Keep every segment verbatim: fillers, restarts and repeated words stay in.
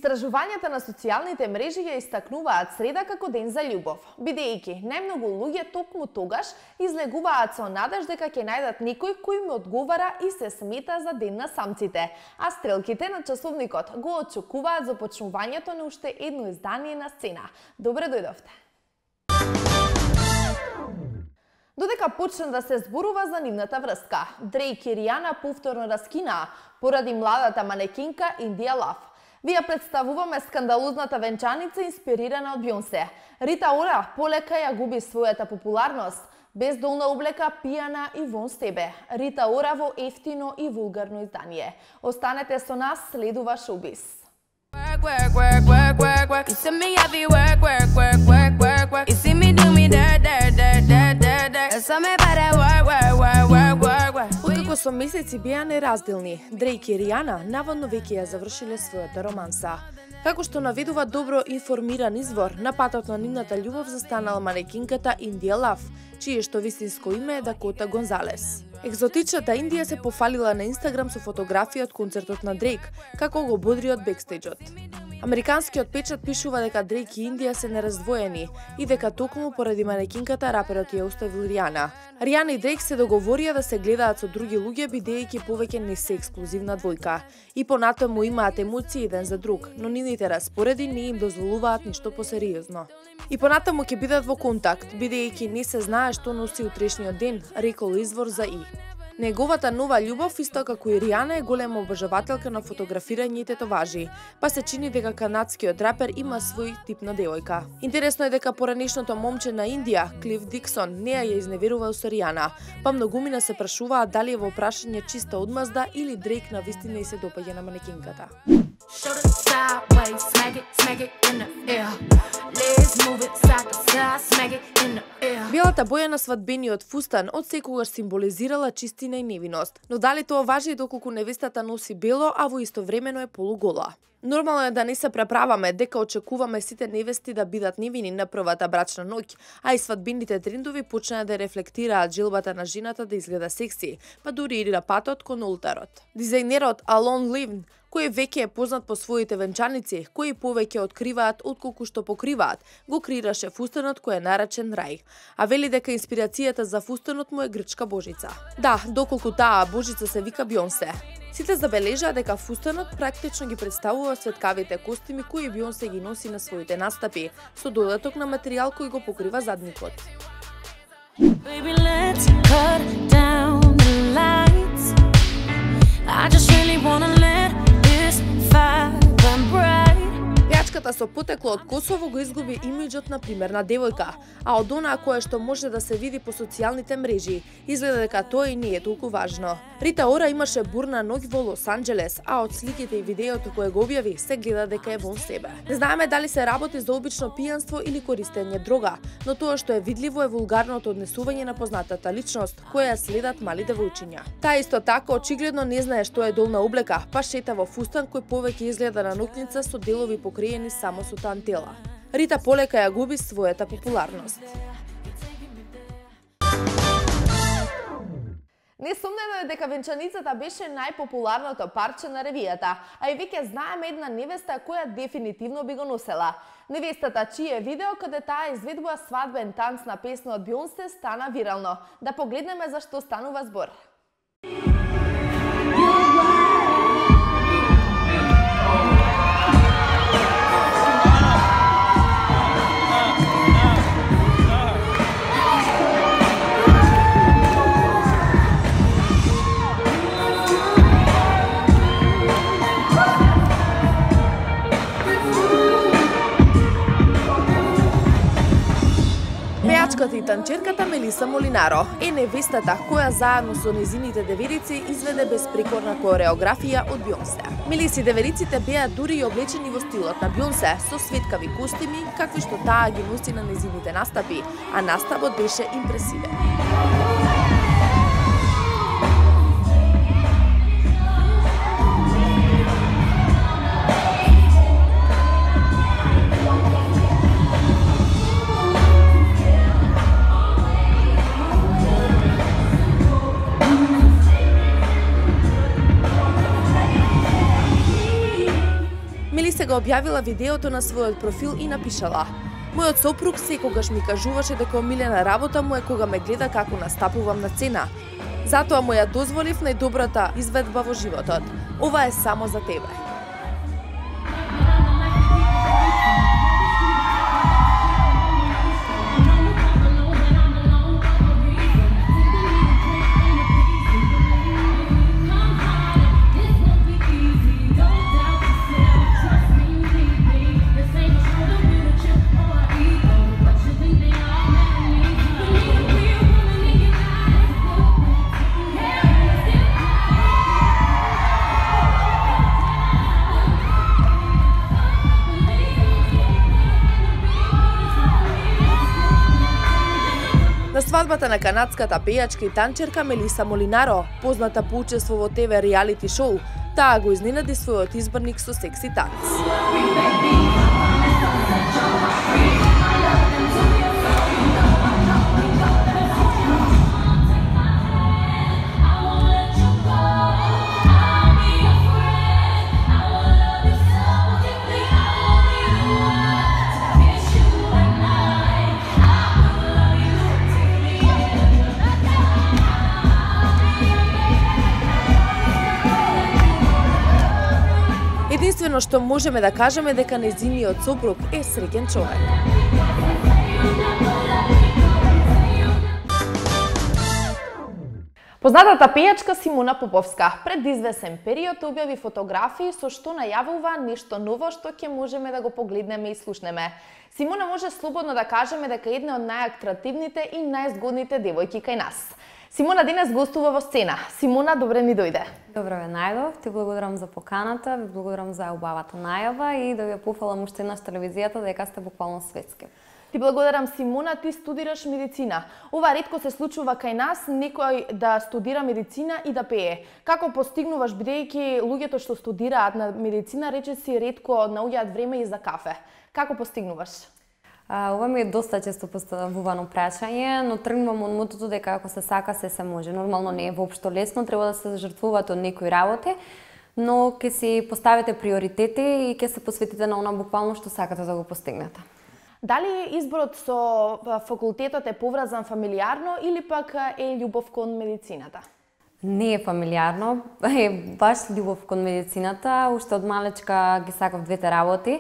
Истражувањата на социјалните мрежи ја истакнуваат среда како ден за љубов, бидејќи најмногу луѓе токму тогаш излегуваат со надеж дека ќе најдат некој кој им одговара и се смета за ден на самците, а стрелките на часовникот го очекуваат започнувањето на уште едно издание на Сцена. Добре дојдовте! Додека почна да се зборува за нивната врска, Дрейк и Ријана повторно раскинаа поради младата манекинка Индија Лав. Ви ја представуваме скандалозната венчаница инспирирана од Бејонсе. Рита Ора полека ја губи својата популарност, без долна облека, пијана и вон себе. Рита Ора во ефтино и вулгарно издание. Останете со нас, следува шоубиз. Откако со месеци беа неразделни, Дрейк и Ријана наводно веќе ја завршиле својата романса. Како што наведува добро информиран извор, на патот на нивната љубов застанала манекинката Индија Лав, чие што вистинско име е Дакота Гонзалес. Екзотичната Индија се пофалила на Инстаграм со фотографија од концертот на Дрейк, како го бодри од бекстејџот. Американскиот печат пишува дека Дрейк и Индија се нераздвоени и дека токму поради манекинката раперот ја оставил Ријана. Ријана и Дрейк се договорија да се гледаат со други луѓе бидејќи повеќе не се ексклузивна двојка. И понатаму имаат емоции еден за друг, но нивните распореди не им дозволуваат ништо посериозно. И понатаму ќе бидат во контакт, бидејќи не се знае што носи утрешниот ден, рекол извор за И. Неговата нова љубов, исто како и Ријана, е голема обожавателка на фотографирање и тетоважи, па се чини дека канадскиот рапер има свој тип на девојка. Интересно е дека поранешното момче на Индија, Клиф Диксон, не ја изневерувал со Ријана, па многумина се прашуваат дали е во прашање чиста одмазда или Дрейк на вистина и се допаѓа на манекинката. Белата боја на свадбениот фустан од секогаш символизирала чистина и невиност, но дали тоа важи доколку невестата носи бело, а во истовремено е полугола? Нормално е да не се преправаме дека очекуваме сите невести да бидат невини на првата брачна ноќ, а и свадбените трендови почнаа да рефлектираат желбата на жената да изгледа секси, па дури и на патот кон олтарот. Дизајнерот Алон Ливн, кој веќе е познат по своите венчаници, кои повеќе откриваат отколку што покриваат, го креираше фустанот кој е наречен Рај, а вели дека инспирацијата за фустанот му е грчка божица. Да, доколку таа божица се вика Бејонсе. Сите забележаа дека фустанот практично ги представува светкавите костими кои Бејонсе ги носи на своите настапи, со додаток на материјал кој го покрива задникот. Baby, let's cut down the lights. I just really wanna let this fire burn bright. Пејачката со потекло од Косово го изгуби имиџот на примерна девојка, а од онаа која што може да се види по социјалните мрежи, изгледа дека тоа и не е толку важно. Рита Ора имаше бурна ноќ во Лос Анџелес, а од сликите и видеото кое го објави се гледа дека е вон себе. Не знаеме дали се работи за обично пијанство или користење дрога, но тоа што е видливо е вулгарното однесување на познатата личност, која следат мали девојчиња. Таа исто така очигледно не знае што е долна облека, па шета во фустан кој повеќе изгледа на ноќница со делови покриени само со тантела. Рита полека ја губи својата популарност. Несомнено е дека венчаницата беше најпопуларното парче на ревијата, а и веќе знаеме една невеста која дефинитивно би го носела. Невестата чие видео каде таа изведува свадбен танц на песна од Бејонсе стана вирално. Да погледнеме за што станува збор. Пејачката и танчерката Мелиса Молинаро е невестата која заедно со незините деверици изведе безпрекорна кореографија од Бејонсе. Мелиси девериците беа дури и облечени во стилот на Бејонсе со светкави костими, какви што таа ги носи на незините настапи, а настапот беше импресивен. го објавила видеото на својот профил и напишала: "Мојот сопруг секогаш ми кажуваше дека омилена работа му е кога ме гледа како настапувам на сцена. Затоа му ја дозволив најдобрата изведба во животот. Ова е само за тебе." На свадбата на канадската пејачка и танчерка Мелиса Молинаро, позната по учество во ТВ реалити шоу, таа го изненади својот изборник со секси танц. Единствено што можеме да кажеме дека нејзиниот сопруг е среќен човек. Познатата пејачка Симона Поповска пред извесен период објави фотографии со што најавува нешто ново што ќе можеме да го погледнеме и слушнеме. Симона може слободно да кажеме дека е една од најатрактивните и најзгодните девојки кај нас. Симона денес гостува во сцена. Симона, добре ни дојде. Добро ве најдов, ти благодарам за поканата, ви благодарам за убавата најава и да ви ја пофалам уште еднаш телевизијата дека сте буквално светски. Ти благодарам, Симона, ти студираш медицина. Ова ретко се случува кај нас, некој да студира медицина и да пее. Како постигнуваш, бидејќи луѓето што студираат на медицина речиси ретко наоѓаат време и за кафе? Како постигнуваш? А, ова ми е доста често поставувано прашање, но тргнувам од мотото дека ако се сака, се се може. Нормално не е воопшто лесно, треба да се жртвувате од некои работи, но ќе си поставите приоритети и ќе се посветите на она буквално што сакате да го постигнете. Дали изборот со факултетот е поврзан фамилиарно или пак е љубов кон медицината? Не е фамилиарно, е баш љубов кон медицината. Уште од малечка ги сакав двете работи.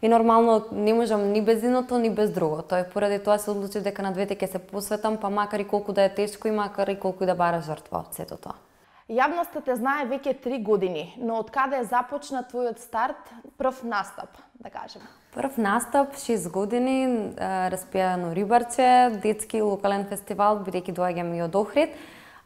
И нормално не можам ни без едното, ни без другото. И поради тоа се одлучив дека на двете ќе се посветам, па макар и колку да е тешко и макар и колку и да бара жртва од сето тоа. Јавноста те знае веќе три години, но од каде започна твојот старт, прв настап, да кажем? Прв настап, шест години, распијано Рибарче, детски локален фестивал, бидејќи доаѓам и од Охрид.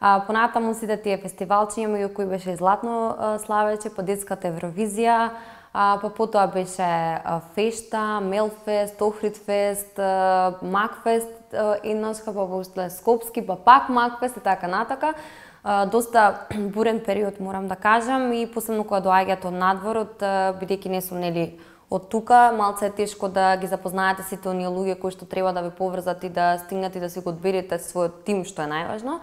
А, понатаму сите тие фестивалчиња, меѓу кои беше и Златно славече, по детската Евровизија, а, па потоа беше а, Фешта, Мелфест, Охридфест, а, Макфест, еднашка па после Скопски, па пак Макфест и така натака. А, доста бурен период, морам да кажам, и посебно кога доаѓаат од надворот, бидејќи не сум нели од тука, малце е тешко да ги запознаете сите оние луѓе кои што треба да ве поврзат и да стигнете и да си го одберете својот тим, што е најважно.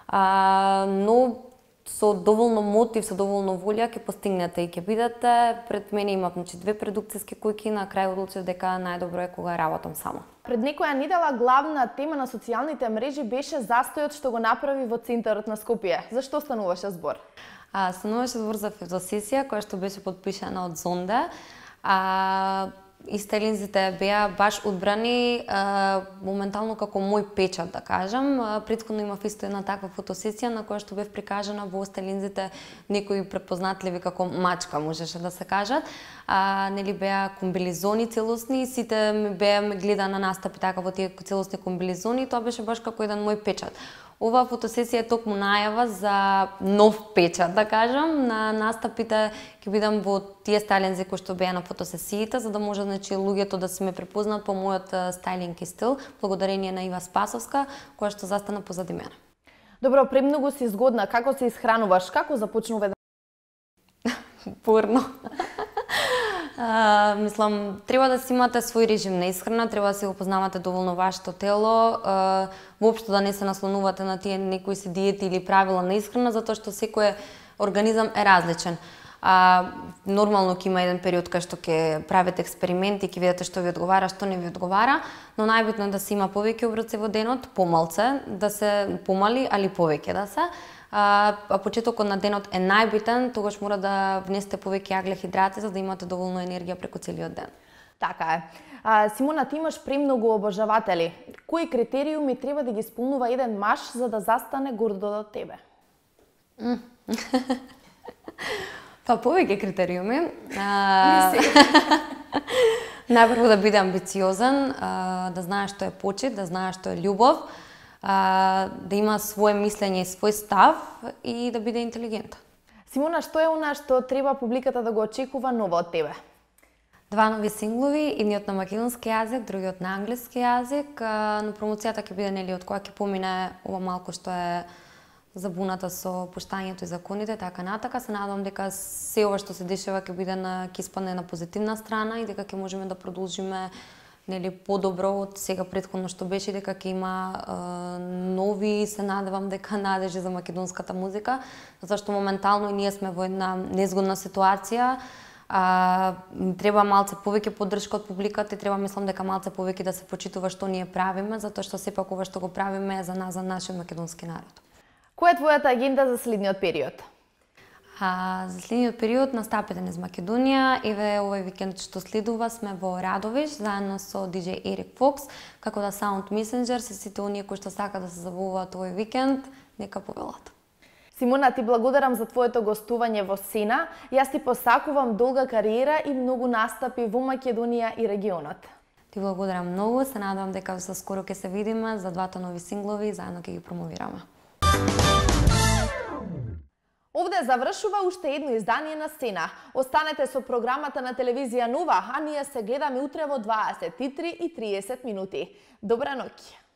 А, но со доволно мотив, со доволно волја ќе постигнете и ќе бидете. Пред мене имав значи две продукциски куќи, на крај одлучив дека најдобро е кога работам само. Пред некоја недела главна тема на социјалните мрежи беше застојот што го направи во центарот на Скопје. Зашто стануваше збор? А, стануваше збор за фотосесија која што беше подпишана од Зонде. А, и стелинзите беа баш одбрани а, моментално како мој печат, да кажам. А, претходно имав исто една таква фотосесија на која што бев прикажана во стелинзите некои препознатливи како мачка, можеше да се кажат. А, нели беа комбилизони целосни и сите ми беа ме гледа на настапи така во тие целосни комбилизони, тоа беше баш како еден мој печат. Ова фотосесија е токму најава за нов печат, да кажам. На настапите ќе бидам во тие стајлинзи кои што беа на фотосесиите, за да може значи луѓето да се ме препознат по мојот стајлинг и стил, благодарение на Ива Спасовска, која што застана позади мене. Добро, премногу си згодна. Како се исхрануваш? Како започнува? Порно. Uh, мислам, треба да си имате свој режим на исхрана, треба да си го познавате доволно вашето тело, uh, воопшто да не се наслонувате на тие некои си диети или правила на исхрана, затоа што секој организам е различен. А, нормално ќе има еден период кај што ќе правите експерименти, ќе видите што ви одговара, што не ви одговара, но најбитно е да се има повеќе оброци во денот, помалце, да се помали, али повеќе да се. А, а почетокот на денот е најбитен, тогаш мора да внесете повеќе аглехидрати за да имате доволно енергија преку целиот ден. Така е. А, Симона, ти имаш премногу обожаватели. Кои критериуми треба да ги исполнува еден маж за да застане гордо до тебе? Mm. Па повеќе критериуми. А... Најпрво да биде амбициозен, а, да знае што е почит, да знае што е љубов, а, да има свое мислење и свој став и да биде интелигентен. Симона, што е она што треба публиката да го очекува ново од тебе? Два нови синглови, едниот на македонски јазик, другиот на англиски јазик, а, но промоцијата ќе биде нели од која ќе помине ова малку што е забуната со пуштањето и законите, така натака. Се надевам дека се ова што се дешава ќе биде на ќе испадне на позитивна страна и дека ќе можеме да продолжиме нели подобро од сега претходно што беше, дека ќе има е, нови, се надевам дека надежи за македонската музика, затоа што моментално и ние сме во една незгодна ситуација. А, треба малце повеќе поддршка од публиката и треба мислам дека малце повеќе да се почитува што ние правиме, затоа што сепак ова што го правиме е за нас, за нашиот македонски народ. Која е твојата агенда за следниот период? А, за следниот период настапите низ Македонија. Еве овој викенд што следува сме во Радовиш заедно со диџеј Ерик Фокс, како да Sound Messenger, се сите оние кои што сакаат да се забавуваат овој викенд, нека повелат. Симона, ти благодарам за твоето гостување во Сена. Јас ти посакувам долга кариера и многу настапи во Македонија и регионот. Ти благодарам многу, се надевам дека за скоро ќе се видиме за двата нови синглови и заедно ќе ги промовираме. Овде завршува уште едно издание на Сцена. Останете со програмата на телевизија Нова, а ние се гледаме утре во дваесет и три и триесет минути. Добра ноќ!